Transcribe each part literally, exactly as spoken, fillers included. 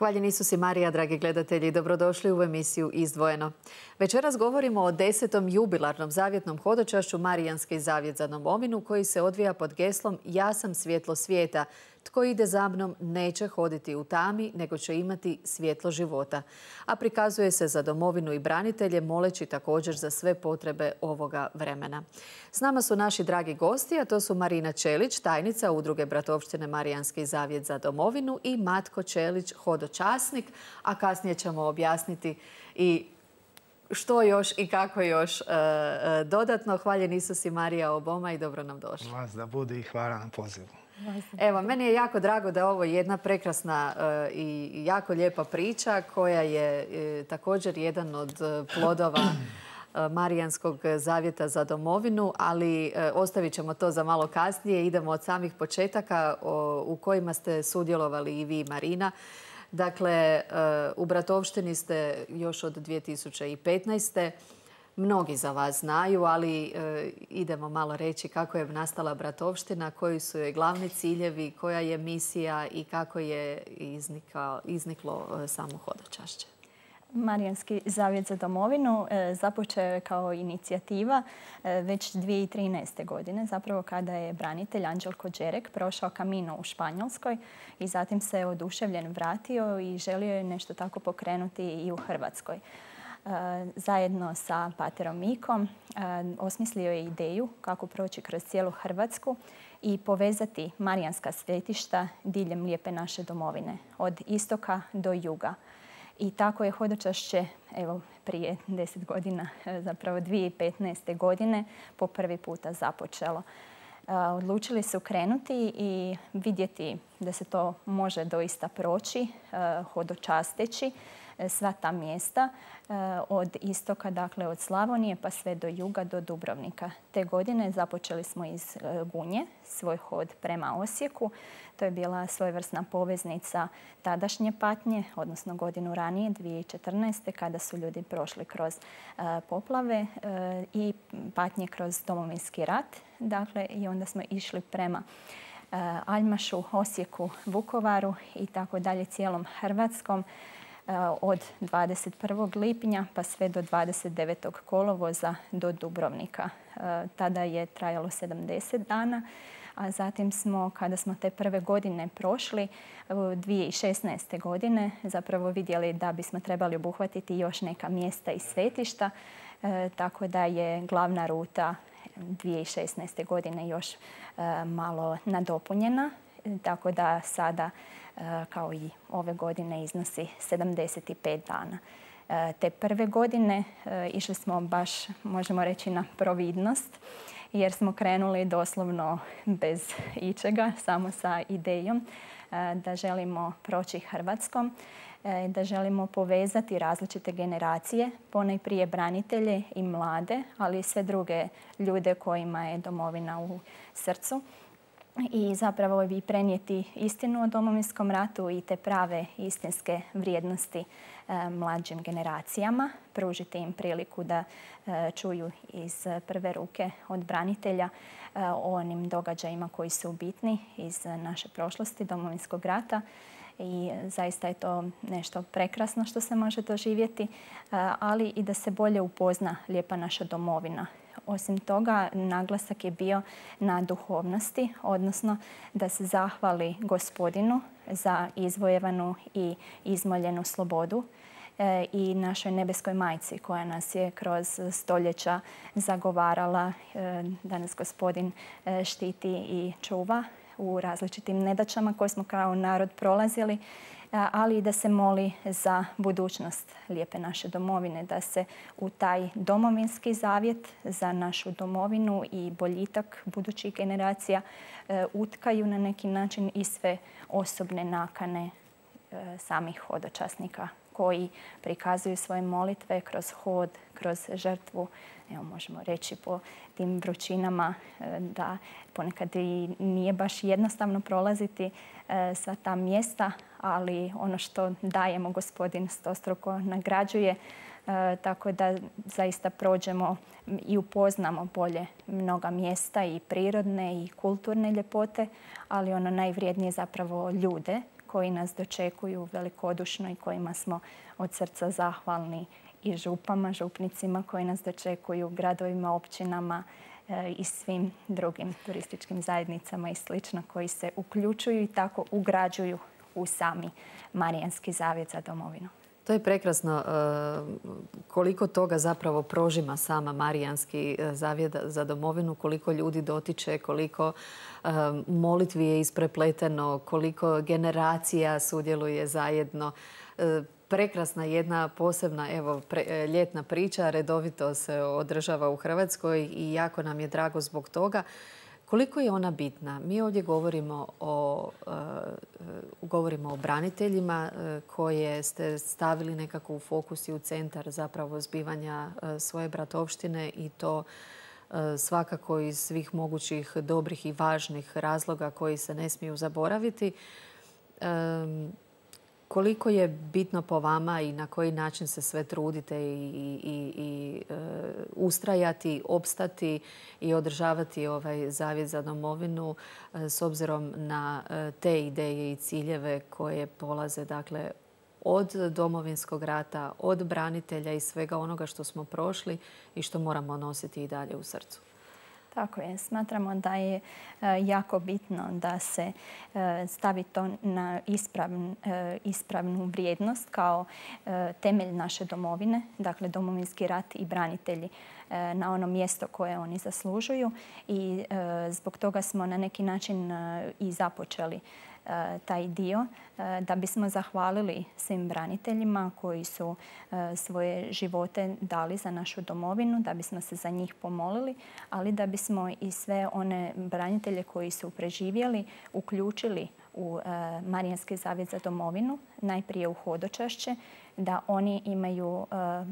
Hvaljen Isus i Marija, dragi gledatelji, dobrodošli u emisiju Izdvojeno. Večeras govorimo o desetom jubilarnom zavjetnom hodočašću Marijanski zavjet za domovinu koji se odvija pod geslom Ja sam svjetlo svijeta. Tko ide za mnom neće hoditi u tami, nego će imati svjetlo života. A prikazuje se za domovinu i branitelje, moleći također za sve potrebe ovoga vremena. S nama su naši dragi gosti, a to su Marina Čelić, tajnica Udruge Bratovštine Marijanski zavjet za domovinu i Matko Čelić, hodočasnik, a kasnije ćemo objasniti i što još i kako još e, e, dodatno. Hvaljen Isus i Marija oboma i dobro nam došli. Vas da bude i hvala na pozivu. Evo, meni je jako drago da je ovo jedna prekrasna e, i jako lijepa priča koja je e, također jedan od plodova e, Marijanskog zavjeta za domovinu, ali e, ostavit ćemo to za malo kasnije. Idemo od samih početaka o, u kojima ste sudjelovali i vi, Marina. Dakle, u Bratovštini ste još od dvije tisuće petnaeste. Mnogi za vas znaju, ali idemo malo reći kako je nastala Bratovština, koji su joj glavni ciljevi, koja je misija i kako je izniklo samo hodočašće. Marijanski zavjet za domovinu započeo je kao inicijativa već dvije tisuće trinaeste. godine, zapravo kada je branitelj Anđelko Đerek prošao Camino u Španjolskoj i zatim se oduševljen vratio i želio je nešto tako pokrenuti i u Hrvatskoj. Zajedno sa paterom Mikom osmislio je ideju kako proći kroz cijelu Hrvatsku i povezati marijanska svetišta diljem lijepe naše domovine, od istoka do juga. I tako je hodočašće, evo, prije deset godina, zapravo dvije tisuće petnaeste. godine, po prvi puta započelo. Odlučili su krenuti i vidjeti da se to može doista proći, hodočasteći sva ta mjesta od istoka, dakle od Slavonije pa sve do juga, do Dubrovnika. Te godine započeli smo iz Gunje svoj hod prema Osijeku. To je bila svojevrsna poveznica tadašnje patnje, odnosno godinu ranije, dvije tisuće četrnaeste. kada su ljudi prošli kroz poplave i patnje kroz Domovinski rat. Dakle, i onda smo išli prema Aljmašu, Osijeku, Vukovaru i tako dalje cijelom Hrvatskom od dvadeset prvog lipnja pa sve do dvadeset devetog kolovoza do Dubrovnika. Tada je trajalo sedamdeset dana, a zatim smo, kada smo te prve godine prošli, dvije tisuće šesnaeste. godine, zapravo vidjeli da bismo trebali obuhvatiti još neka mjesta i svetišta, tako da je glavna ruta dvije tisuće šesnaeste. godine još malo nadopunjena, tako da sada, kao i ove godine, iznosi sedamdeset pet dana. Te prve godine išli smo baš, možemo reći, na providnost, jer smo krenuli doslovno bez ičega, samo sa idejom da želimo proći Hrvatskom, da želimo povezati različite generacije, ponajprije branitelje i mlade, ali i sve druge ljude kojima je domovina u srcu. I zapravo bi prenijeti istinu o Domovinskom ratu i te prave istinske vrijednosti e, mlađim generacijama, pružiti im priliku da e, čuju iz prve ruke od branitelja e, o onim događajima koji su bitni iz naše prošlosti Domovinskog rata. I zaista je to nešto prekrasno što se može doživjeti, ali i da se bolje upozna lijepa naša domovina. Osim toga, naglasak je bio na duhovnosti, odnosno da se zahvali Gospodinu za izvojevanu i izmoljenu slobodu i našoj nebeskoj majci koja nas je kroz stoljeća zagovarala da nas Gospodin štiti i čuva u različitim nedaćama koje smo kao narod prolazili, ali i da se moli za budućnost lijepe naše domovine, da se u taj domovinski zavjet za našu domovinu i boljitak budućih generacija utkaju na neki način i sve osobne nakane samih hodočasnika koji prikazuju svoje molitve kroz hod, kroz žrtvu. Evo, možemo reći po tim vrućinama da ponekad i nije baš jednostavno prolaziti sva ta mjesta, ali ono što dajemo Gospodin stostruko nagrađuje, tako da zaista prođemo i upoznamo bolje mnoga mjesta i prirodne i kulturne ljepote, ali ono najvrijednije zapravo ljude koji nas dočekuju velikodušno i kojima smo od srca zahvalni, i župama, župnicima koji nas dočekuju, gradovima, općinama i svim drugim turističkim zajednicama i slično koji se uključuju i tako ugrađuju u sami Marijanski zavjet za domovinu. To je prekrasno koliko toga zapravo prožima sama Marijanski zavjet za domovinu, koliko ljudi dotiče, koliko molitvi je isprepleteno, koliko generacija sudjeluje zajedno. Prekrasna jedna posebna evo, pre, ljetna priča, redovito se održava u Hrvatskoj i jako nam je drago zbog toga. Koliko je ona bitna? Mi ovdje govorimo o, uh, govorimo o braniteljima uh, koje ste stavili nekako u fokus i u centar zapravo zbivanja uh, svoje bratovštine i to uh, svakako iz svih mogućih dobrih i važnih razloga koji se ne smiju zaboraviti. Um, Koliko je bitno po vama i na koji način se sve trudite i, i, i e, ustrajati, opstati i održavati ovaj zavjet za domovinu e, s obzirom na e, te ideje i ciljeve koje polaze dakle, od Domovinskog rata, od branitelja i svega onoga što smo prošli i što moramo nositi i dalje u srcu? Tako je. Smatramo da je jako bitno da se stavi to na ispravn, ispravnu vrijednost kao temelj naše domovine, dakle Domovinski rat i branitelji na ono mjesto koje oni zaslužuju i zbog toga smo na neki način i započeli taj dio da bismo zahvalili svim braniteljima koji su svoje živote dali za našu domovinu, da bismo se za njih pomolili, ali da bismo i sve one branitelje koji su preživjeli uključili u Marijanski zavjet za domovinu, najprije u hodočašće, da oni imaju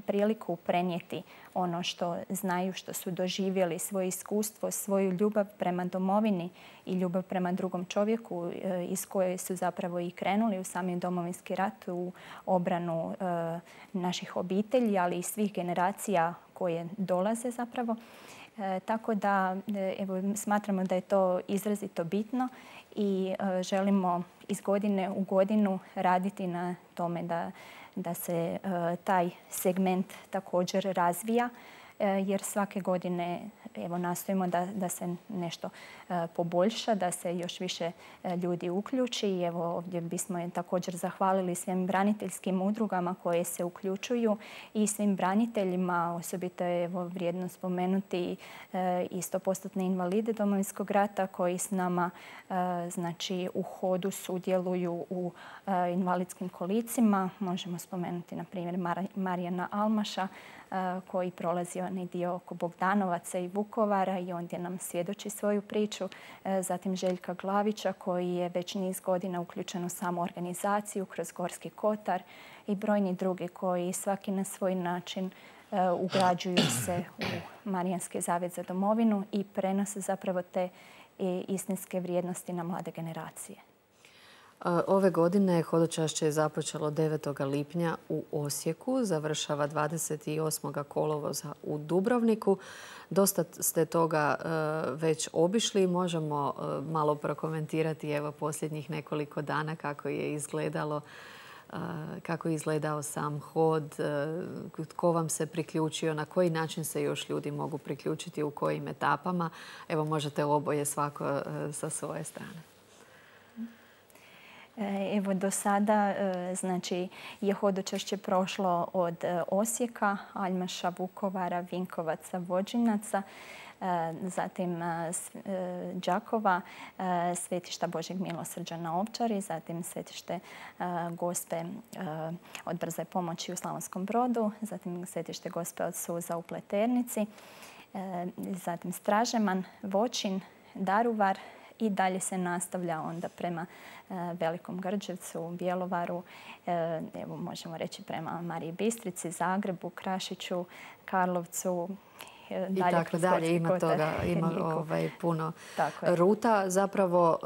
priliku prenijeti ono što znaju, što su doživjeli, svoje iskustvo, svoju ljubav prema domovini i ljubav prema drugom čovjeku iz koje su zapravo i krenuli u sami Domovinski rat, u obranu naših obitelji, ali i svih generacija koje dolaze zapravo. Tako da evo, smatramo da je to izrazito bitno i želimo iz godine u godinu raditi na tome da, da se taj segment također razvija, jer svake godine evo, nastojimo da, da se nešto poboljša, da se još više ljudi uključi. I evo, ovdje bismo također zahvalili svim braniteljskim udrugama koje se uključuju i svim braniteljima. Osobito je evo, vrijedno spomenuti i sto posto invalide Domovinskog rata koji s nama znači, u hodu sudjeluju u invalidskim kolicima. Možemo spomenuti na primjer Marijana Almaša koji prolazi onaj dio oko Bogdanovaca i Vukovara i ondje nam svjedoči svoju priču. Zatim Željka Glavića koji je već niz godina uključen u samu organizaciju kroz Gorski kotar i brojni drugi koji svaki na svoj način ugrađuju se u Marijanski zavjet za domovinu i prenose zapravo te istinske vrijednosti na mlade generacije. Ove godine hodočašće je započelo devetog lipnja u Osijeku, završava dvadeset osmog kolovoza u Dubrovniku. Dosta ste toga već obišli. Možemo malo prokomentirati evo posljednjih nekoliko dana kako je izgledalo, kako je izgledao sam hod, tko vam se priključio, na koji način se još ljudi mogu priključiti, u kojim etapama. Evo možete oboje svako sa svoje strane. Evo do sada znači, je hodočašće prošlo od Osijeka, Aljmaša, Vukovara, Vinkovaca, Vođinaca, zatim Đakova, Svetišta Božjeg milosrđa na Ovčari, zatim Svetište Gospe od brze pomoći u Slavonskom Brodu, zatim Svetište Gospe od Suza u Pleternici, zatim Stražeman, Voćin, Daruvar, i dalje se nastavlja onda prema Velikom Grđevcu, Bjelovaru, evo možemo reći prema Mariji Bistrici, Zagrebu, Krašiću, Karlovcu. I tako dalje. Ima toga, ima ovaj, puno ruta. Zapravo,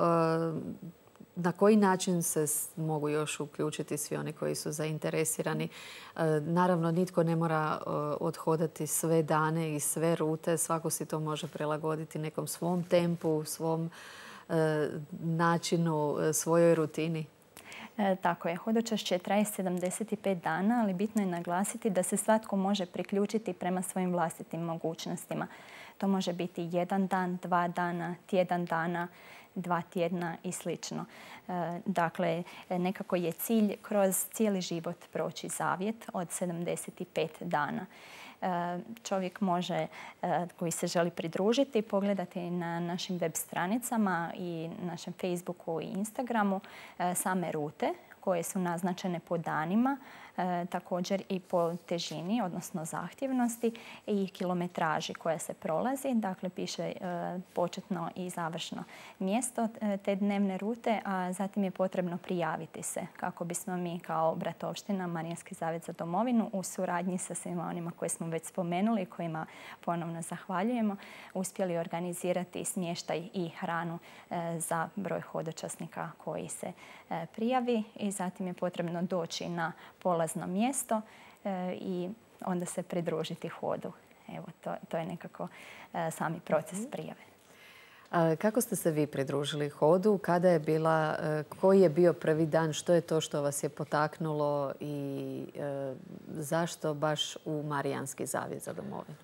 na koji način se mogu još uključiti svi oni koji su zainteresirani? Naravno, nitko ne mora odhodati sve dane i sve rute. Svako si to može prilagoditi nekom svom tempu, svom načinu, svojoj rutini. E, tako je. Hodočašće traje sedamdeset pet dana, ali bitno je naglasiti da se svatko može priključiti prema svojim vlastitim mogućnostima. To može biti jedan dan, dva dana, tjedan dana, dva tjedna i slično. E, dakle, nekako je cilj kroz cijeli život proći zavjet od sedamdeset pet dana. Čovjek može, koji se želi pridružiti, pogledati na našim web stranicama i našem Facebooku i Instagramu same rute koje su naznačene po danima, također i po težini, odnosno zahtjevnosti i kilometraži koja se prolazi. Dakle, piše početno i završno mjesto te dnevne rute, a zatim je potrebno prijaviti se kako bismo mi kao Bratovština Marijanski zavjet za domovinu u suradnji sa svima onima koje smo već spomenuli i kojima ponovno zahvaljujemo, uspjeli organizirati smještaj i hranu za broj hodočasnika koji se prijavi i zatim je potrebno doći na polazno mjesto i onda se pridružiti hodu. Evo, to, to je nekako sami proces prijave. A kako ste se vi pridružili hodu? Kada je bila, koji je bio prvi dan? Što je to što vas je potaknulo i e, zašto baš u Marijanski zavjet za domovinu?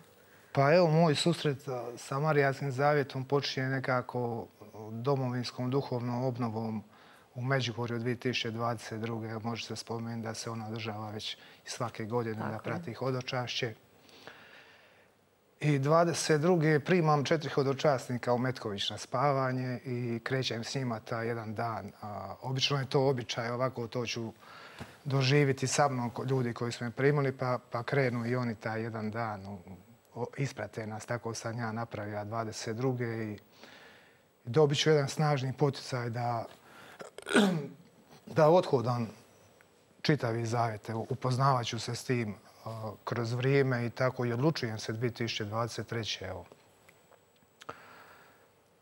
Pa evo, moj susret sa Marijanskim zavjetom počinje nekako domovinskom duhovnom obnovom u Međugorju dvije tisuće dvadeset druge. Može se spomenuti da se ona održava već svake godine da prati hodočašće. I dvadeset druge primam četiri hodočasnika u Metković na spavanje i krećem s njima taj jedan dan. A, obično je to običaj, ovako to ću doživjeti sa mnom ljudi koji su me primili, pa, pa krenu i oni taj jedan dan. U, o, isprate nas, tako sam ja napravio dvadeset druge i dobit ću jedan snažni poticaj da da odhodam čitavi zavjete, upoznavat ću se s tim uh, kroz vrijeme i tako i odlučujem se dvije tisuće dvadeset treće Evo.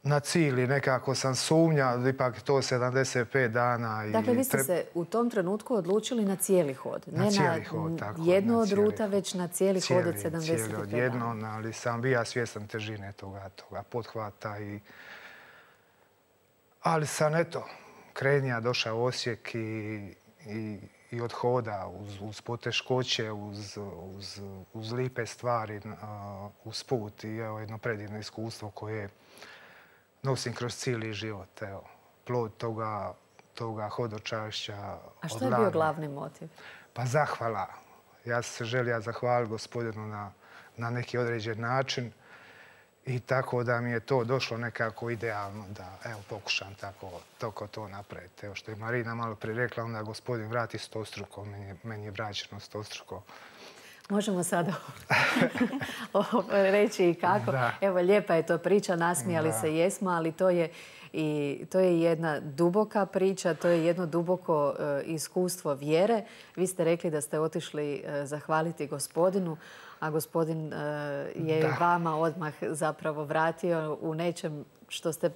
Na cilj nekako sam sumnja, ipak to sedamdeset pet dana. I dakle, vi ste se u tom trenutku odlučili na cijeli hod. Na ne cijeli na hod, tako. jednu na od cijeli ruta, hod. već na cijeli, cijeli hod od sedamdeset pet cijeli od dana. jednom, ali sam bio svjestan težine toga, toga pothvata. I... Ali sam, eto, krenija došao u Osijek i, i, i od hoda uz, uz poteškoće, uz, uz, uz lipe stvari, uh, uz put i evo, jedno predivno iskustvo koje nosim kroz cijeli život. Evo, plod toga, toga hodočašća. A što je bio glavni motiv? Pa zahvala. Ja sam se želio zahvaliti gospodinu na, na neki određen način. I tako da mi je to došlo nekako idealno da evo, pokušam tako toko to napraviti. Evo što je Marina malo prije rekla, onda gospodin vrati stostruko, meni je, meni je vraćeno stostruko. Možemo sada reći i kako. Da. Evo, lijepa je to priča, nasmijali da. se jesmo, ali to je, i, to je jedna duboka priča, to je jedno duboko uh, iskustvo vjere. Vi ste rekli da ste otišli uh, zahvaliti gospodinu, a gospodin uh, je da. vama odmah zapravo vratio u nečem što ste,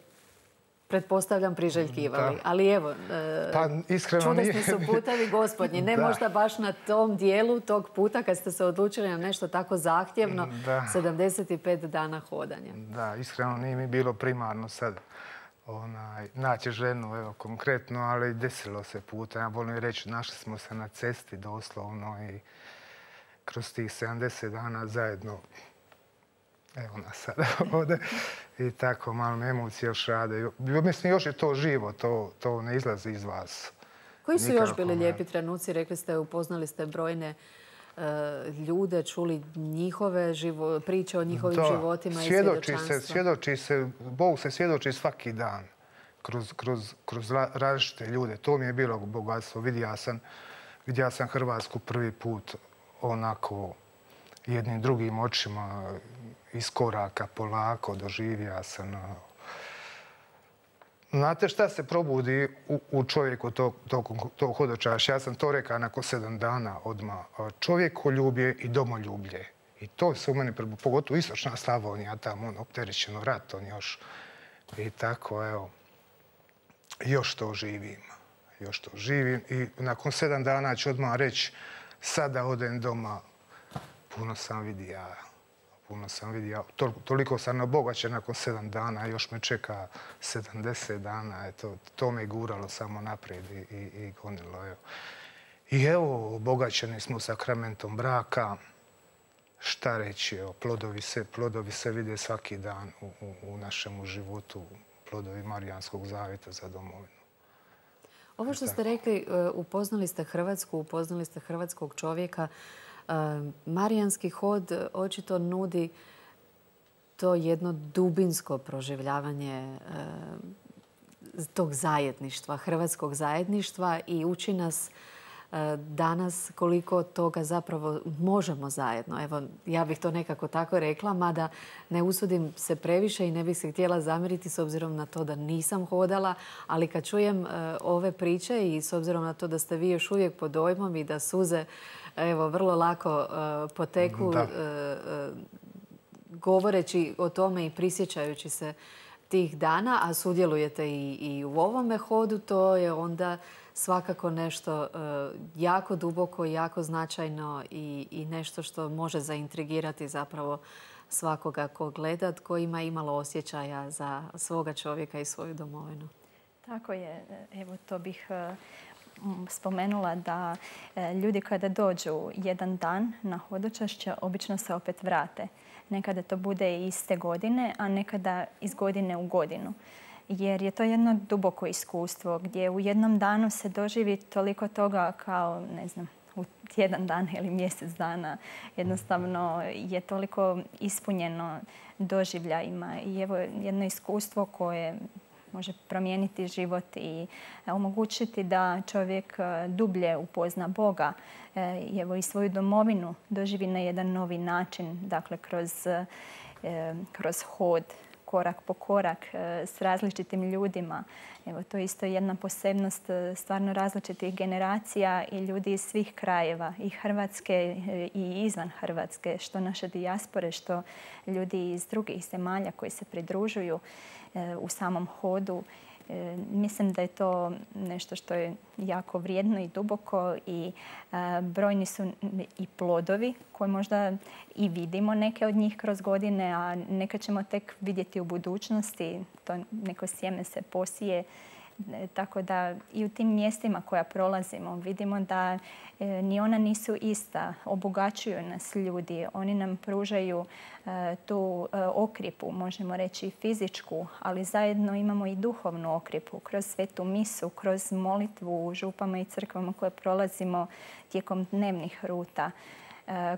pretpostavljam, priželjkivali. Da. Ali evo, uh, pa, čudesni su putevi gospodnji. Ne da. možda baš na tom dijelu tog puta kad ste se odlučili na nešto tako zahtjevno, da. sedamdeset pet dana hodanja. Da, iskreno nije mi bilo primarno sad onaj, naći ženu, evo, konkretno, ali desilo se puta. Ja volim reći, našli smo se na cesti doslovno i kroz tih sedamdeset dana zajedno, evo nas sad ovdje, i tako malo me emocije još rade. Mislim, još je to živo, to, to ne izlazi iz vas. Koji su Nikako još bili ne... lijepi trenuci? Rekli ste, upoznali ste brojne uh, ljude, čuli njihove živo, priče o njihovim to, životima i svjedočanstva. Svjedoči se, Bog se svjedoči svaki dan kroz, kroz, kroz različite ljude. To mi je bilo bogatstvo. Vidio sam, vidio sam Hrvatsku prvi put onako jednim drugim očima, iz koraka, polako, doživio sam. Znate šta se probudi u, u čovjeku tog, tog, tog hodočašća? Ja sam to rekao nakon sedam dana odmah. Čovjekoljublje i domoljublje. I to se u meni, pogotovo istočna Slavonija, tamo on opterećeno ratom još. I tako, evo, još to živim. Još to živim. I nakon sedam dana ću odmah reći, sada odem doma, puno sam vidio. puno sam vidio. Toliko sam obogaćen nakon sedam dana, još me čeka sedamdeset dana. Eto, to me guralo samo naprijed i, i, i gonilo. Evo. I evo, obogaćeni smo sakramentom braka. Šta reći, evo, plodovi se, plodovi se vide svaki dan u, u, u našemu životu, plodovi Marijanskog zavjeta za domovinu. Ovo što ste rekli, upoznali ste Hrvatsku, upoznali ste hrvatskog čovjeka. Marijanski hod očito nudi to jedno dubinsko proživljavanje tog zajedništva, hrvatskog zajedništva i uči nas danas koliko toga zapravo možemo zajedno. Evo, ja bih to nekako tako rekla, mada ne usudim se previše i ne bih se htjela zamjeriti s obzirom na to da nisam hodala, ali kad čujem ove priče i s obzirom na to da ste vi još uvijek pod dojmom i da suze evo, vrlo lako poteku govoreći o tome i prisjećajući se tih dana, a sudjelujete i, i u ovome hodu, to je onda svakako nešto jako duboko, jako značajno i, i nešto što može zaintrigirati zapravo svakoga ko gleda, tko ima imalo osjećaja za svoga čovjeka i svoju domovinu. Tako je. Evo, to bih spomenula da ljudi kada dođu jedan dan na hodočašće obično se opet vrate. Nekada to bude iste godine, a nekada iz godine u godinu. Jer je to jedno duboko iskustvo gdje u jednom danu se doživi toliko toga kao, ne znam, u tjedan dan ili mjesec dana. Jednostavno je toliko ispunjeno doživljajima i evo jedno iskustvo koje može promijeniti život i omogućiti da čovjek dublje upozna Boga i evo i svoju domovinu doživi na jedan novi način, dakle kroz, kroz hod, korak po korak s različitim ljudima. Evo, to je isto jedna posebnost stvarno različitih generacija i ljudi iz svih krajeva, i Hrvatske i izvan Hrvatske, što naše dijaspore, što ljudi iz drugih zemalja koji se pridružuju u samom hodu. Mislim da je to nešto što je jako vrijedno i duboko i brojni su i plodovi koje možda i vidimo neke od njih kroz godine, a neke ćemo tek vidjeti u budućnosti. To neko sjeme se posije. Tako da i u tim mjestima koja prolazimo vidimo da ni ona nisu ista. Obogaćuju nas ljudi. Oni nam pružaju tu okripu, možemo reći fizičku, ali zajedno imamo i duhovnu okripu kroz svetu misu, kroz molitvu u župama i crkvama koje prolazimo tijekom dnevnih ruta,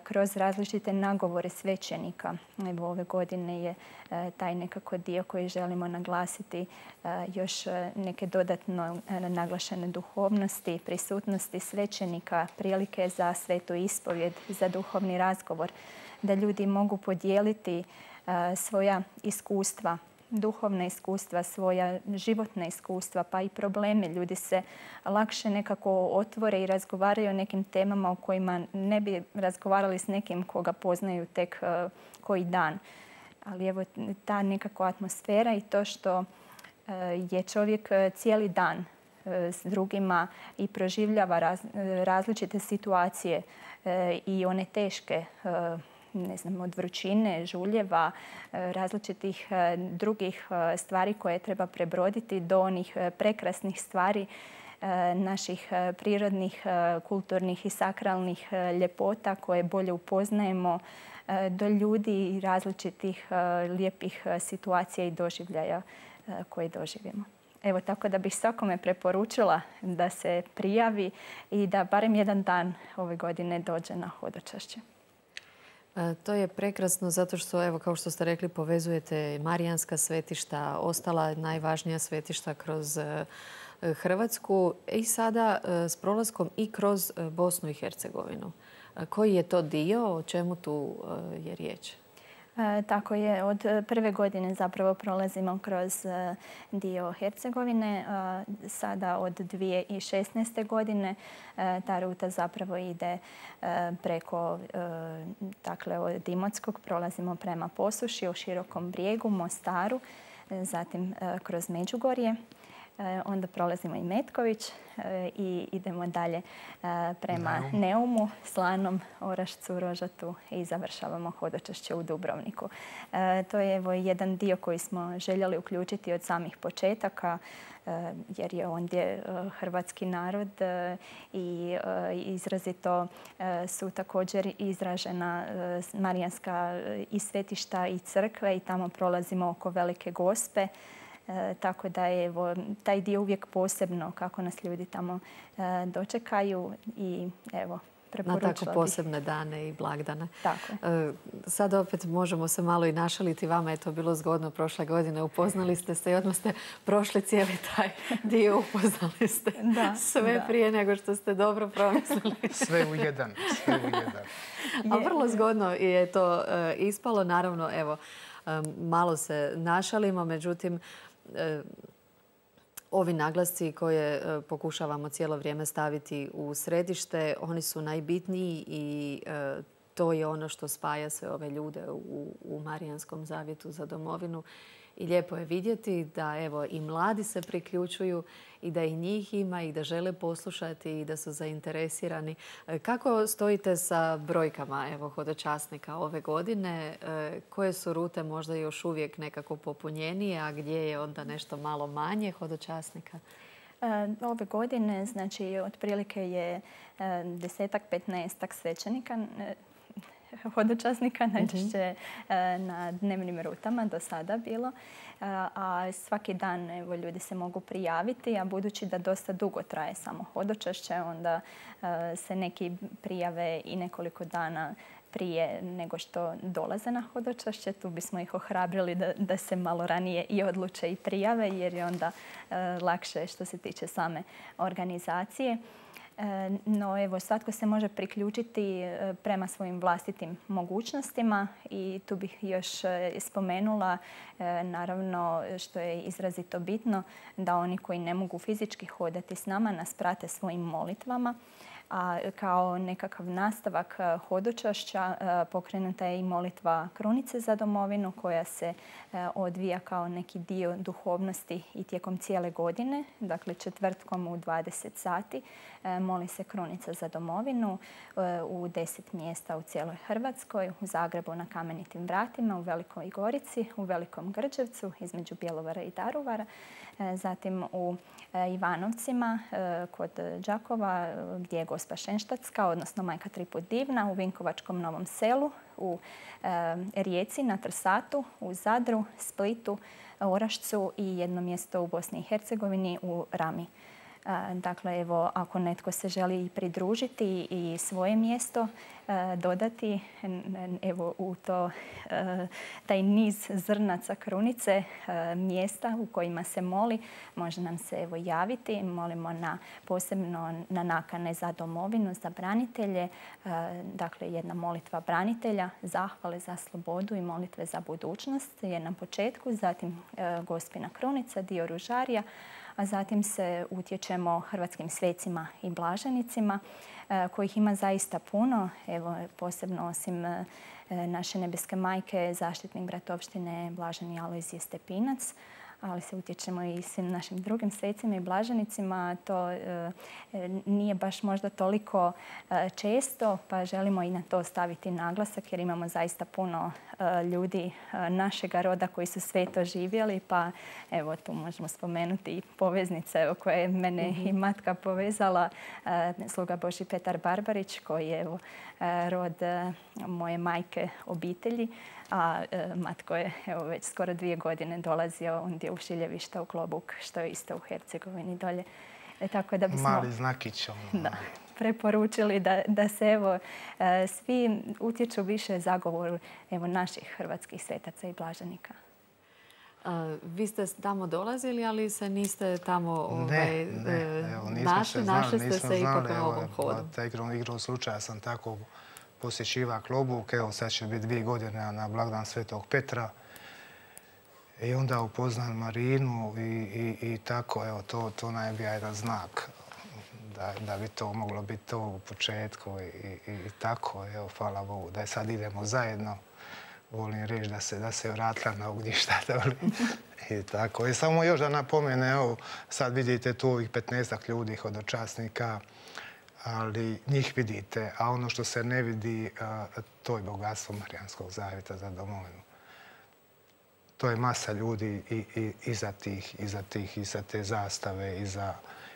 kroz različite nagovore svećenika. Evo, ove godine je taj nekako dio koji želimo naglasiti, još neke dodatno naglašene duhovnosti, prisutnosti svećenika, prilike za svetu ispovjed, za duhovni razgovor, da ljudi mogu podijeliti svoja iskustva, duhovna iskustva, svoja životna iskustva, pa i probleme. Ljudi se lakše nekako otvore i razgovaraju o nekim temama o kojima ne bi razgovarali s nekim koga poznaju tek koji dan. Ali evo ta nekako atmosfera i to što je čovjek cijeli dan s drugima i proživljava različite situacije i one teške, ne znam, od vrućine, žuljeva, različitih drugih stvari koje treba prebroditi do onih prekrasnih stvari naših prirodnih, kulturnih i sakralnih ljepota koje bolje upoznajemo, do ljudi i različitih lijepih situacija i doživljaja koje doživimo. Evo, tako da bih svakome preporučila da se prijavi i da barem jedan dan ove godine dođe na hodočašće. To je prekrasno zato što, evo, kao što ste rekli, povezujete marijanska svetišta, ostala najvažnija svetišta kroz Hrvatsku i sada s prolaskom i kroz Bosnu i Hercegovinu. Koji je to dio, o čemu tu je riječ? Tako je, od prve godine zapravo prolazimo kroz dio Hercegovine. Sada od dvije tisuće šesnaeste. godine ta ruta zapravo ide preko, dakle, od Imotskog prolazimo prema Posuši, o Širokom brijegu, Mostaru, zatim kroz Međugorje. Onda prolazimo i Metković i idemo dalje prema Neumu, Slanom, Orašcu, Rožatu i završavamo hodočašće u Dubrovniku. To je evo jedan dio koji smo željeli uključiti od samih početaka, jer je ondje hrvatski narod i izrazito su također izražena marijanska i svetišta i crkve i tamo prolazimo oko Velike Gospe. E, tako da je evo, taj dio uvijek posebno kako nas ljudi tamo e, dočekaju i evo, preporučila na tako posebne dane i blagdane. Tako. E, sad opet možemo se malo i našaliti. Vama je to bilo zgodno prošle godine. Upoznali ste se i odmah ste prošli cijeli taj dio. Upoznali ste da, sve da. prije nego što ste dobro promislili. Sve u jedan. Sve u jedan. A vrlo zgodno je to e, ispalo. Naravno, evo, e, malo se našalimo, međutim, E, ovi naglasci koje e, pokušavamo cijelo vrijeme staviti u središte, oni su najbitniji i e, to je ono što spaja sve ove ljude u, u Marijanskom zavjetu za domovinu. I lijepo je vidjeti da evo i mladi se priključuju i da i njih ima i da žele poslušati i da su zainteresirani. Kako stojite sa brojkama evo, hodočasnika ove godine? Koje su rute možda još uvijek nekako popunjenije, a gdje je onda nešto malo manje hodočasnika? Ove godine, znači, otprilike je desetak, petnaestak svećenika, hodočasnika, najčešće na dnevnim rutama do sada bilo. A svaki dan evo, ljudi se mogu prijaviti, a budući da dosta dugo traje samo hodočašće, onda se neki prijave i nekoliko dana prije nego što dolaze na hodočašće. Tu bismo ih ohrabrili da, da se malo ranije i odluče i prijave, jer je onda lakše što se tiče same organizacije. No evo, svatko se može priključiti prema svojim vlastitim mogućnostima i tu bih još spomenula, naravno što je izrazito bitno, da oni koji ne mogu fizički hodati s nama nas prate svojim molitvama. A kao nekakav nastavak hodočašća pokrenuta je i molitva Krunice za domovinu koja se odvija kao neki dio duhovnosti i tijekom cijele godine. Dakle, četvrtkom u dvadeset sati moli se Krunica za domovinu u deset mjesta u cijeloj Hrvatskoj, u Zagrebu na Kamenitim vratima, u Velikoj Gorici, u Velikom Grđevcu između Bjelovara i Daruvara, zatim u Ivanovcima kod Đakova gdje je Gospa Šenštatska, odnosno Majka Triput Divna, u Vinkovačkom Novom Selu, u Rijeci na Trsatu, u Zadru, Splitu, Orašcu i jedno mjesto u Bosni i Hercegovini u Rami. Dakle, evo, ako netko se želi pridružiti i svoje mjesto dodati evo, u to, taj niz zrnaca krunice, mjesta u kojima se moli, može nam se evo, javiti. Molimo na, posebno na nakane za domovinu, za branitelje. Dakle, jedna molitva branitelja, zahvale za slobodu i molitve za budućnost je na početku. Zatim Gospina krunica, dio ružarija, a zatim se utječemo hrvatskim svecima i blaženicima kojih ima zaista puno. Evo, posebno osim naše nebeske majke, zaštitnik bratovštine Blaženi Alojzije Stepinac, ali se utječemo i svim našim drugim svecima i blaženicima. To e, nije baš možda toliko e, često, pa želimo i na to staviti naglasak jer imamo zaista puno e, ljudi e, našega roda koji su sve to živjeli, pa evo tu možemo spomenuti i poveznice evo, koje je mene mm-hmm. i matka povezala, e, sluga Božji Petar Barbarić koji je evo, e, rod e, moje majke obitelji, a e, matko je evo, već skoro dvije godine dolazio ondje u Šiljevišta u Klobuk, što je isto u Hercegovini dolje. E, tako da bismo, mali znakić. Da, preporučili da, da se evo, e, svi utječu više zagovoru evo, naših hrvatskih svetaca i blaženika. A, vi ste tamo dolazili, ali se niste tamo ovaj, ne, ne. Evo, našli, našli ste se ipak u ovom hodu. Taj igrom slučaja sam tako posjećiva Klobuk. Evo sad će biti dvije godine na blagdan Svetog Petra. I onda upoznam Marinu i, i, i tako, evo, to, to nam je bio jedan znak da, da bi to moglo biti to u početku i, i, i tako, evo, hvala Bogu, da sad idemo zajedno volim reći da se, da se vratila na ognjišta. I tako. I samo još da napomene, evo, sad vidite tu ovih petnaestak ljudi hodočasnika, ali njih vidite, a ono što se ne vidi, to je bogatstvo Marijanskog zavjeta za domovinu. To je masa ljudi i, i, iza tih, iza tih, iza te zastave, iza,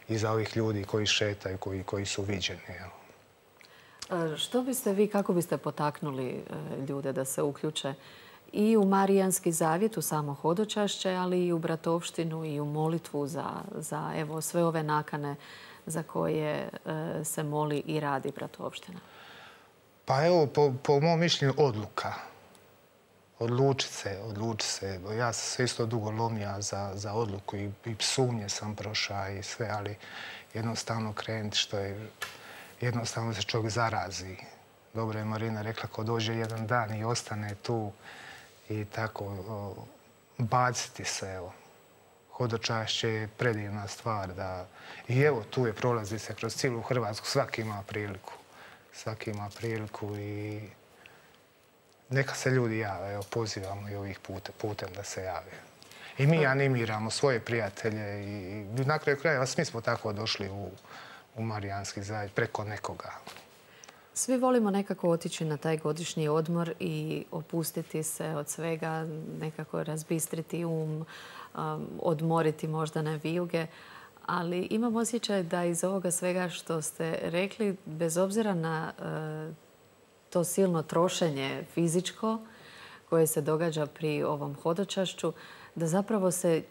iza ovih ljudi koji šetaju, koji, koji su viđeni. Evo. Što biste vi, kako biste potaknuli ljude da se uključe i u Marijanski zavjet, u samo hodočašće, ali i u bratovštinu i u molitvu za, za evo, sve ove nakane za koje se moli i radi bratovština? Pa evo, po, po mom mišljenju, odluka. Odluči se, odluči se. Ja sam se isto dugo lomija za, za odluku i, i psunje sam prošao i sve, ali jednostavno krenuti što je, jednostavno se čovjek zarazi. Dobro je Marina rekla, ko dođe jedan dan i ostane tu i tako o, baciti se, evo. Hodočašće je predivna stvar da... I evo, tu je, prolazi se kroz cijelu Hrvatsku, svaki ima priliku. Svaki ima priliku i neka se ljudi jave, evo, pozivamo i ovih putem, putem da se jave. I mi animiramo svoje prijatelje i na kraju krajeva svi smo tako došli u, u Marijanski zavjet preko nekoga. Svi volimo nekako otići na taj godišnji odmor i opustiti se od svega, nekako razbistriti um, odmoriti možda na vijuge, ali imam osjećaj da iz ovoga svega što ste rekli, bez obzira na to silno trošenje fizičko koje se događa pri ovom hodočašću, da zapravo se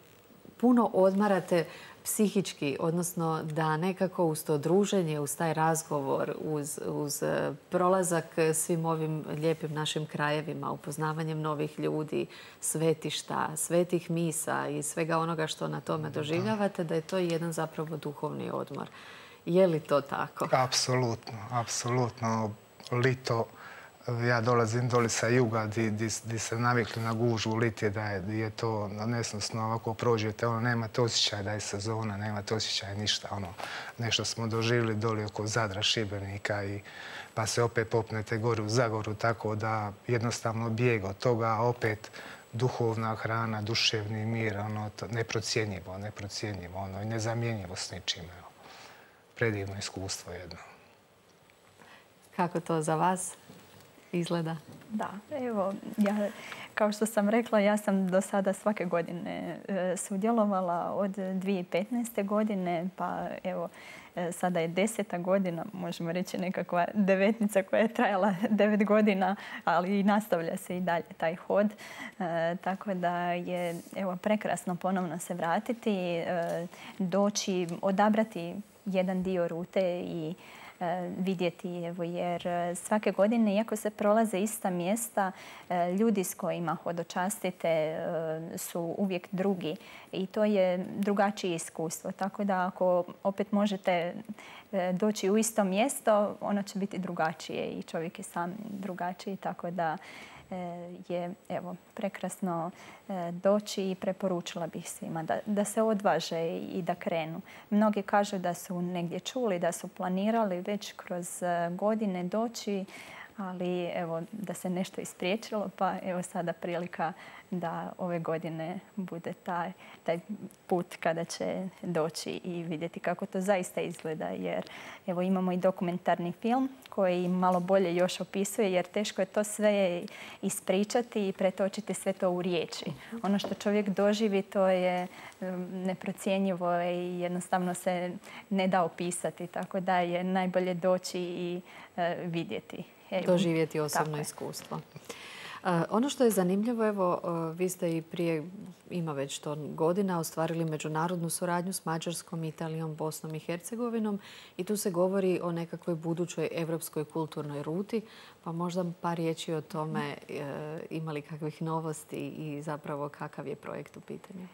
puno odmarate psihički, odnosno da nekako uz to druženje, uz taj razgovor, uz, uz prolazak svim ovim lijepim našim krajevima, upoznavanjem novih ljudi, svetišta, svetih misa i svega onoga što na tome doživljavate, da je to jedan zapravo duhovni odmor. Je li to tako? Apsolutno, apsolutno. Lito, ja dolazim doli sa juga gdje se navikli na gužvu, liti da je, je to nesnosno, ovako prođete, ono, nemate osjećaj da je sezona, nemate osjećaj ništa, ono, nešto smo doživjeli doli oko Zadra, Šibenika i pa se opet popnete gore u Zagoru, tako da jednostavno bijeg od toga, a opet duhovna hrana, duševni mir, ono, to, neprocjenjivo, neprocjenjivo, ono, i nezamjenjivo s ničim, evo. Predivno iskustvo jedno. Kako to za vas izgleda? Da, evo, ja, kao što sam rekla, ja sam do sada svake godine e, sudjelovala od dvije tisuće petnaeste. godine, pa evo, e, sada je deseta godina, možemo reći nekakva devetnica koja je trajala devet godina, ali i nastavlja se i dalje taj hod. E, tako da je, evo, prekrasno ponovno se vratiti, e, doći, odabrati jedan dio rute i vidjeti, evo, jer svake godine, iako se prolaze ista mjesta, ljudi s kojima hodočastite su uvijek drugi i to je drugačije iskustvo. Tako da ako opet možete doći u isto mjesto, ono će biti drugačije i čovjek je sam drugačiji, tako da je, evo, prekrasno doći i preporučila bih svima da, da se odvaže i da krenu. Mnogi kažu da su negdje čuli, da su planirali već kroz godine doći, ali evo, da se nešto ispriječilo, pa evo sada prilika da ove godine bude taj, taj put kada će doći i vidjeti kako to zaista izgleda. Jer evo, imamo i dokumentarni film koji malo bolje još opisuje, jer teško je to sve ispričati i pretočiti sve to u riječi. Ono što čovjek doživi, to je neprocjenjivo i jednostavno se ne da opisati. Tako da je najbolje doći i vidjeti. Evo, doživjeti osobno iskustvo. Ono što je zanimljivo, evo, vi ste i prije, ima već to godina, ostvarili međunarodnu suradnju s Mađarskom, Italijom, Bosnom i Hercegovinom i tu se govori o nekakvoj budućoj evropskoj kulturnoj ruti, pa možda par riječi o tome, imali kakvih novosti i zapravo kakav je projekt u pitanju?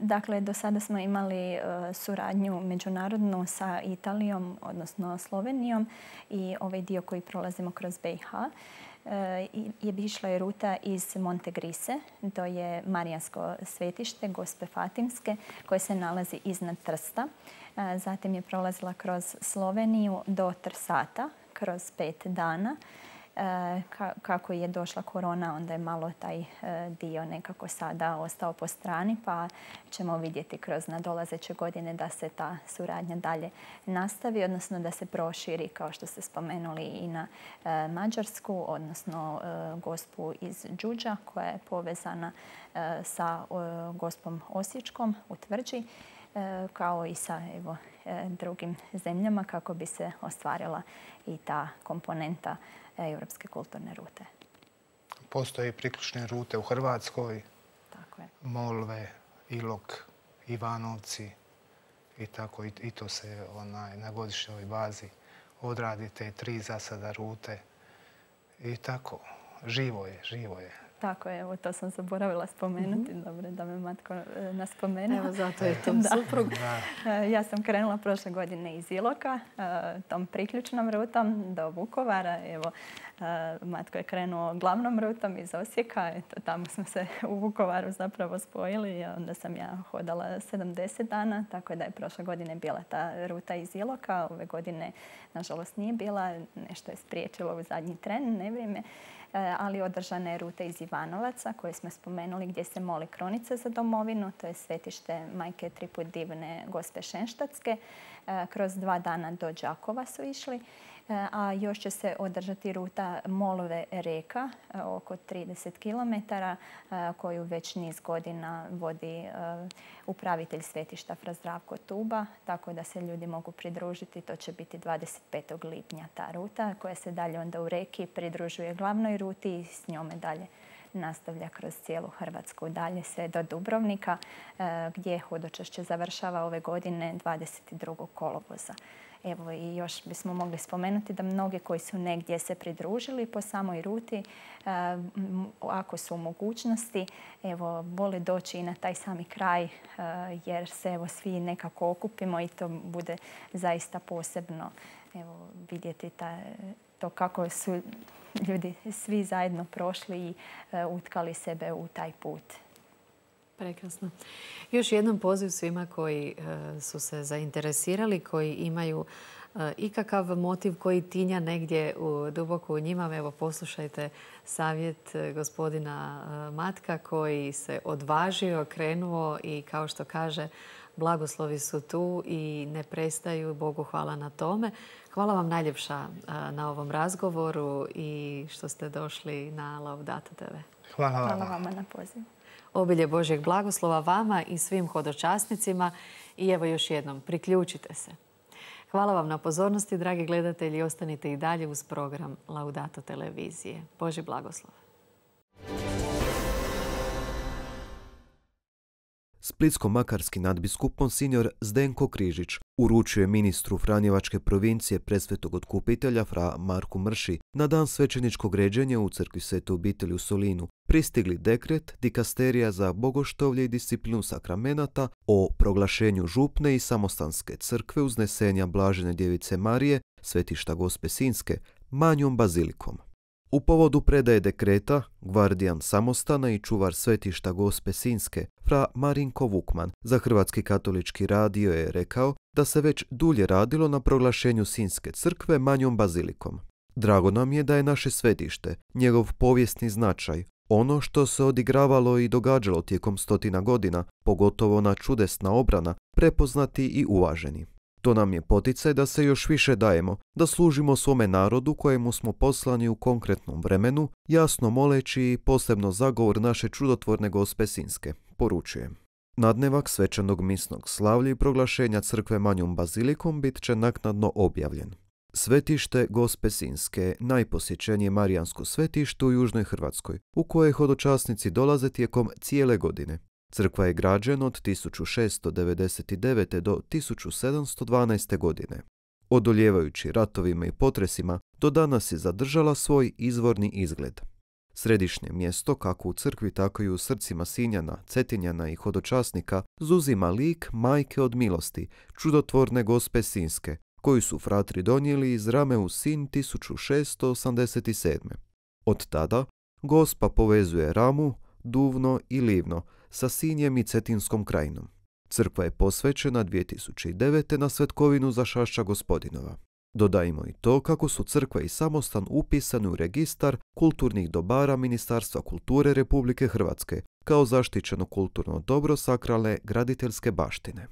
Dakle, do sada smo imali suradnju međunarodnu sa Italijom, odnosno Slovenijom i ovaj dio koji prolazimo kroz B i H je bi išla je ruta iz Montegrise, to je Marijansko svetište Gospe Fatimske koje se nalazi iznad Trsta. Zatim je prolazila kroz Sloveniju do Trsata kroz pet dana Kako je došla korona, onda je malo taj dio nekako sada ostao po strani, pa ćemo vidjeti kroz nadolazeće godine da se ta suradnja dalje nastavi, odnosno da se proširi, kao što ste spomenuli, i na Mađarsku, odnosno Gospu iz Đuđa koja je povezana sa Gospom Osječkom u Tvrđi, kao i sa evo, drugim zemljama kako bi se ostvarila i ta komponenta Europske kulturne rute. Postoje priključne rute u Hrvatskoj, tako je. Molve, Ilok, Ivanovci i tako. I, i to se onaj, na godišnjoj bazi odradi te tri za sada rute. I tako, živo je, živo je. Tako je, evo to sam zaboravila spomenuti. Mm-hmm. Dobro da me Matko naspomenuo. Evo zato je to suprug. Ja sam krenula prošle godine iz Iloka, tom priključnom rutom do Vukovara. Evo, Matko je krenuo glavnom rutom iz Osijeka. Eto, tamo smo se u Vukovaru zapravo spojili. Onda sam ja hodala sedamdeset dana, tako da je prošle godine bila ta ruta iz Iloka. Ove godine, nažalost, nije bila. Nešto je spriječilo u zadnji tren, nevrijeme. Ali održana je ruta iz Ivanovaca koje smo spomenuli gdje se moli kronica za domovinu. To je svetište Majke Triput divne Gospe Šenštatske. Kroz dva dana do Đakova su išli. A još će se održati ruta Molve Reka, oko trideset kilometara, koju već niz godina vodi upravitelj svetišta Fra Zdravko Tuba, tako da se ljudi mogu pridružiti. To će biti dvadeset petog lipnja ta ruta, koja se dalje onda u Reki pridružuje glavnoj ruti i s njome dalje nastavlja kroz cijelu Hrvatsku, dalje sve do Dubrovnika, gdje hodočašće završava ove godine dvadeset drugog kolovoza. Evo i još bismo mogli spomenuti da mnogi koji su negdje se pridružili po samoj ruti, ako su u mogućnosti, evo, vole doći i na taj sami kraj jer se evo svi nekako okupimo i to bude zaista posebno evo, vidjeti ta, to kako su ljudi svi zajedno prošli i utkali sebe u taj put. Prekrasno. Još jednom poziv svima koji su se zainteresirali, koji imaju ikakav motiv koji tinja negdje u, duboko u njima. Evo, poslušajte savjet gospodina Matka koji se odvažio, krenuo i kao što kaže, blagoslovi su tu i ne prestaju. Bogu hvala na tome. Hvala vam najljepša na ovom razgovoru i što ste došli na Laudato te ve. Hvala vam. Hvala vama na pozivu. Obilje Božjeg blagoslova vama i svim hodočasnicima i evo još jednom, priključite se. Hvala vam na pozornosti, dragi gledatelji. Ostanite i dalje uz program Laudato televizije. Božji blagoslov. Splitsko-makarski nadbiskup monsignor Zdenko Križić uručio je ministru Franjevačke provincije Presvetog Otkupitelja fra Marku Mrši na dan svećeničkog ređenja u crkvi Svete obitelji u Solinu pristigli dekret dikasterija za bogoštovlje i disciplinu sakramenata o proglašenju župne i samostanske crkve Uznesenja Blažene djevice Marije, svetišta Gospe Sinjske, manjom bazilikom. U povodu predaje dekreta, gvardijan samostana i čuvar svetišta Gospe Sinjske, fra Marinko Vukman, za Hrvatski katolički radio je rekao da se već dulje radilo na proglašenju Sinjske crkve manjom bazilikom. Drago nam je da je naše svetište, njegov povijesni značaj, ono što se odigravalo i događalo tijekom stotina godina, pogotovo na čudesna obrana, prepoznati i uvaženi. To nam je poticaj da se još više dajemo, da služimo svome narodu kojemu smo poslani u konkretnom vremenu, jasno moleći posebno zagovor naše čudotvorne Gospe Sinjske, poručujem. Nadnevak svečanog misnog slavlja i proglašenja crkve manjom bazilikom bit će naknadno objavljen. Svetište Gospe Sinjske, najposjećenije marijansko svetište u Južnoj Hrvatskoj, u koje hodočasnici dolaze tijekom cijele godine. Crkva je građena od tisuću šesto devedeset devete. do tisuću sedamsto dvanaeste. godine. Odoljevajući ratovima i potresima, do danas je zadržala svoj izvorni izgled. Središnje mjesto, kako u crkvi, tako i u srcima Sinjana, Cetinjana i hodočasnika, zuzima lik Majke od milosti, čudotvorne Gospe Sinjske, koju su fratri donijeli iz rame u Sinj tisuću šesto osamdeset sedme. Od tada Gospa povezuje Ramu, Duvno i Livno sa Sinjem i Cetinskom krajinom. Crkva je posvećena dvije tisuće devete. na Svetkovinu Zašašća Gospodinova. Dodajmo i to kako su crkva i samostan upisani u registar kulturnih dobara Ministarstva kulture Republike Hrvatske kao zaštićeno kulturno dobro sakralne graditeljske baštine.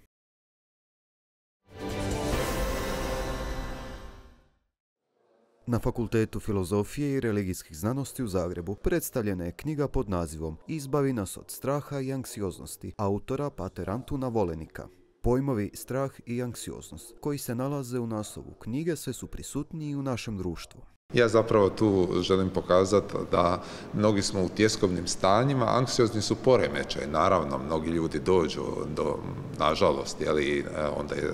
Na Fakultetu filozofije i religijskih znanosti u Zagrebu predstavljena je knjiga pod nazivom Izbavi nas od straha i anksioznosti autora pater Antuna Volenika. Pojmovi strah i anksioznost koji se nalaze u naslovu knjige sve su prisutniji u našem društvu. Ja zapravo tu želim pokazati da mnogi smo u tjeskobnim stanjima, anksiozni su poremećaj. Naravno, mnogi ljudi dođu do, nažalost, jeli, onda je,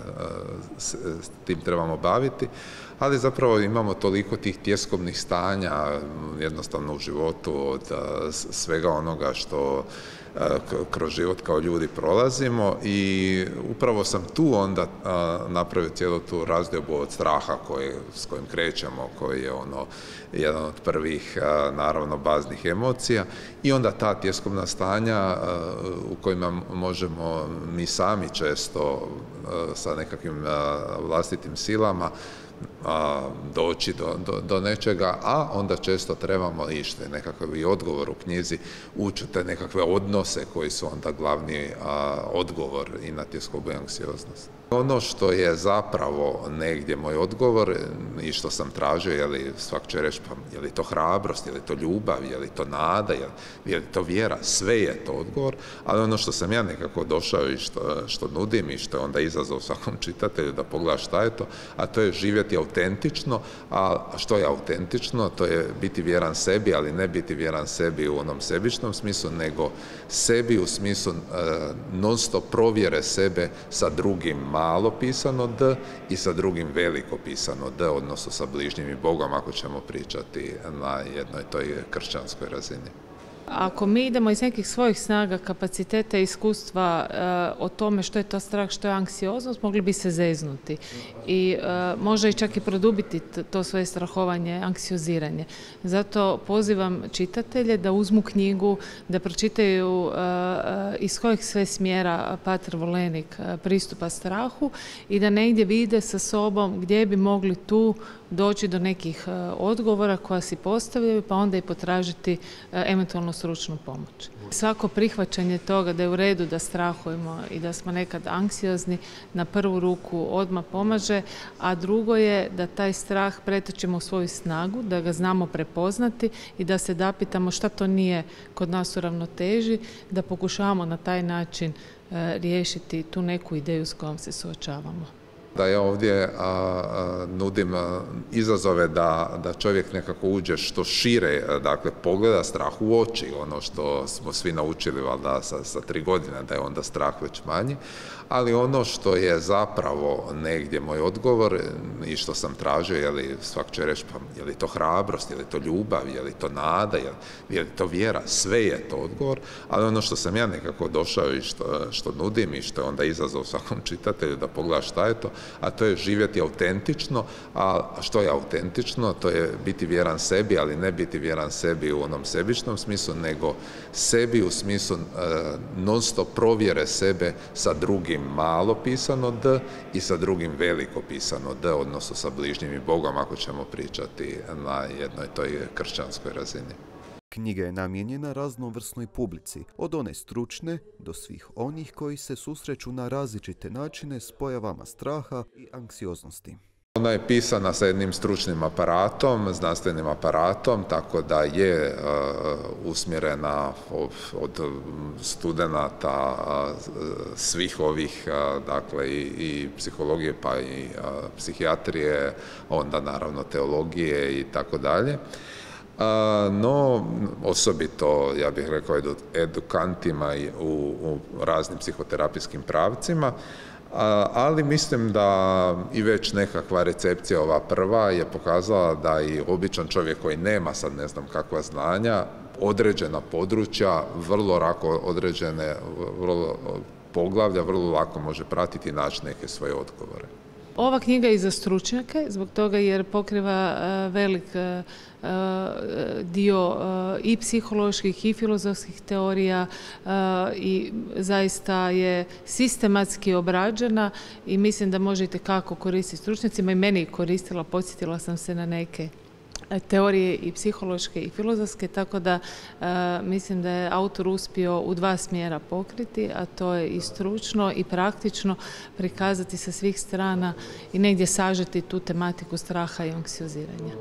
s, s tim trebamo baviti, ali zapravo imamo toliko tih tjeskobnih stanja jednostavno u životu od svega onoga što kroz život kao ljudi prolazimo i upravo sam tu onda napravio cijelu tu razdiobu od straha koji, s kojim krećemo, koji je ono jedan od prvih naravno baznih emocija i onda ta tjeskobna stanja u kojima možemo mi sami često sa nekakvim vlastitim silama A, doći do, do, do nečega, a onda često trebamo ište nekakav i odgovor u knjizi, ući te nekakve odnose koji su onda glavni a, odgovor i na tjeskobu i anksioznost. Ono što je zapravo negdje moj odgovor i što sam tražio, je li svak će reći, pa je li to hrabrost, je li to ljubav, je li to nada, je li, je li to vjera, sve je to odgovor, ali ono što sam ja nekako došao i što, što nudim i što je onda izazov svakom čitatelju da pogleda šta je to, a to je živjeti autentično, a što je autentično, to je biti vjeran sebi, ali ne biti vjeran sebi u onom sebičnom smislu, nego sebi u smislu e, non stop provjere sebe sa drugim malo pisano D i sa drugim veliko pisano D, odnosno sa bližnjim i Bogom, ako ćemo pričati na jednoj toj kršćanskoj razini. Ako mi idemo iz nekih svojih snaga, kapaciteta i iskustva e, o tome što je to strah, što je anksioznost, mogli bi se zeznuti i e, možda i čak i produbiti to svoje strahovanje, anksioziranje. Zato pozivam čitatelje da uzmu knjigu, da pročitaju e, iz kojih sve smjera pater Volenik pristupa strahu i da negdje vide sa sobom gdje bi mogli tu doći do nekih odgovora koja si postavljaju, pa onda i potražiti eventualno stručnu pomoć. Svako prihvaćanje toga da je u redu da strahujemo i da smo nekad anksiozni na prvu ruku odmah pomaže, a drugo je da taj strah pretočimo u svoju snagu, da ga znamo prepoznati i da se zapitamo šta to nije kod nas u ravnoteži, da pokušavamo na taj način riješiti tu neku ideju s kojom se suočavamo. Da ja ovdje a, a, nudim a, izazove da, da čovjek nekako uđe što šire, a, dakle pogleda strah u oči, ono što smo svi naučili valjda sa, sa tri godine, da je onda strah već manji, ali ono što je zapravo negdje moj odgovor i što sam tražio, je li svak će reći, pa je li to hrabrost, je li to ljubav, je li to nada, je li, je li to vjera, sve je to odgovor, ali ono što sam ja nekako došao i što, što nudim i što je onda izazov svakom čitatelju da pogleda šta je to, a to je živjeti autentično, a što je autentično, to je biti vjeran sebi, ali ne biti vjeran sebi u onom sebičnom smislu, nego sebi u smislu e, non stop provjere sebe sa drugim malo pisano D i sa drugim veliko pisano D, odnosno sa bližnjim i Bogom, ako ćemo pričati na jednoj toj kršćanskoj razini. Knjiga je namijenjena raznovrsnoj publici, od one stručne do svih onih koji se susreću na različite načine s pojavama straha i anksioznosti. Ona je pisana sa jednim stručnim aparatom, znanstvenim aparatom, tako da je uh, usmjerena od, od studenata uh, svih ovih, uh, dakle i, i psihologije pa i uh, psihijatrije, onda naravno teologije i tako dalje. No, osobito, ja bih rekao, edukantima u, u raznim psihoterapijskim pravcima, ali mislim da i već nekakva recepcija ova prva je pokazala da i običan čovjek koji nema sad ne znam kakva znanja, određena područja, vrlo lako određene vrlo, poglavlja, vrlo lako može pratiti i naći neke svoje odgovore. Ova knjiga je i za stručnjake, zbog toga jer pokriva velik dio i psiholoških i filozofskih teorija i zaista je sistematski obrađena i mislim da možete kako koristiti stručnjacima i meni koristila, podsjetila sam se na neke teorije i psihološke i filozofske, tako da e, mislim da je autor uspio u dva smjera pokriti, a to je i stručno i praktično prikazati sa svih strana i negdje sažeti tu tematiku straha i anksioziranja.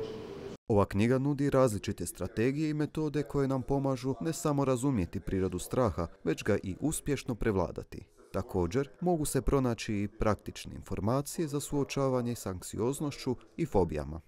Ova knjiga nudi različite strategije i metode koje nam pomažu ne samo razumjeti prirodu straha, već ga i uspješno prevladati. Također, mogu se pronaći i praktične informacije za suočavanje s anksioznošću i fobijama.